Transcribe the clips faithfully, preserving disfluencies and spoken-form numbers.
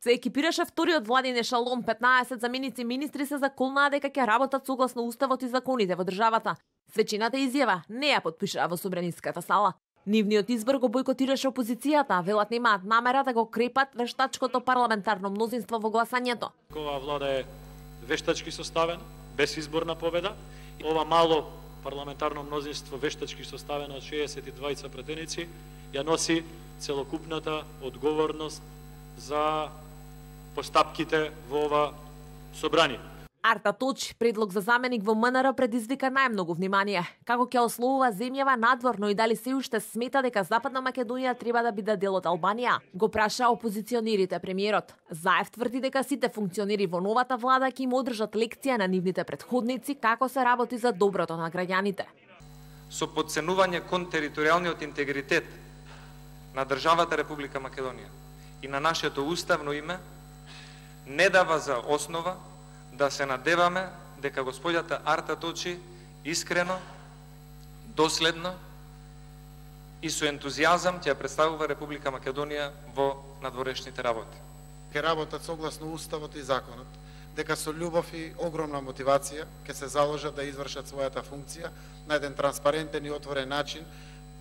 Се екипираше вториот владин ешалон, петнаесет заменици министри се заколнаа дека ќе работат согласно уставот и законите во државата. Свечината изјава не ја потпишаа во собраниската сала. Нивниот избор го бойкотираше опозицијата, велат немаат намера да го крепат вештачкото парламентарно мнозинство во гласањето. Ова влада е вештачки составена, без изборна победа. Ова мало парламентарно мнозинство вештачки составено од шеесет и двајца претеници ја носи целокупната одговорност за постапките во ова собрание. Арта Точи, предлог за заменик во МНР, предизвика најмногу внимание. Како ќе ословува земјава надворно и дали се уште смета дека Западна Македонија треба да биде дел од Албанија? Го праша опозиционерите премиерот. Заев тврди дека сите функционери во новата влада ќе им одржат лекција на нивните претходници како се работи за доброто на граѓаните. Со подценување кон територијалниот интегритет на државата Република Македонија и на нашето уставно име не дава за основа да се надеваме дека господјата Арта Точи искрено, доследно и со ентузијазам ќе представува Република Македонија во надворешните работи. Ќе работат согласно уставот и законот, дека со љубов и огромна мотивација ќе се заложат да извршат својата функција на еден транспарентен и отворен начин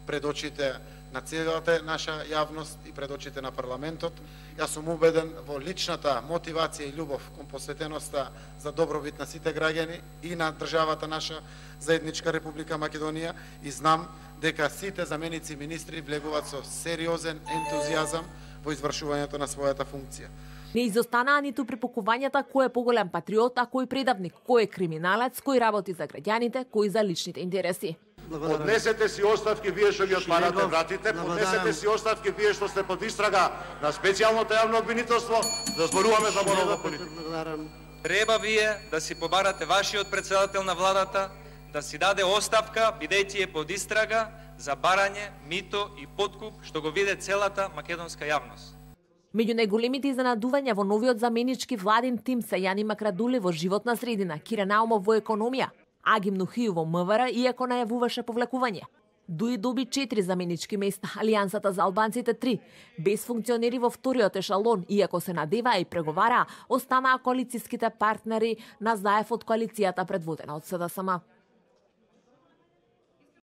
пред очите на целата наша јавност и пред очите на парламентот. Јас сум убеден во личната мотивација и љубов кон посветеноста за добробит на сите граѓани и на државата наша заедничка Република Македонија и знам дека сите заменици министри влегуваат со сериозен ентузијазам во извршувањето на својата функција. Не изостанаа ниту препокувањата кој е поголем патриот, а кој предавник, кој е криминалец, кој работи за граѓаните, кој за личните интереси. Поднесете си оставки вие што ги отварате вратите, поднесете си оставки вие што сте под истрага на специјалното јавно обвинителство, да зборуваме за морална политика. Треба вие да си побарате вашиот председател на владата да си даде оставка, бидејќи е под истрага за барање, мито и подкуп, што го виде целата македонска јавност. Меѓу најголемите изненадувања во новиот заменички владин тим се Јани Макрадуле во животна средина, Кира Наумов во економија, Агим Нухију во МВР, иако најавуваше повлекување. Дуи доби четири заменички места, Алијансата за албанците три. Без функционери во вториот ешалон, иако се надеваа и преговараа, останаа коалицијските партнери на Заев од коалицијата предводена од СДСМ.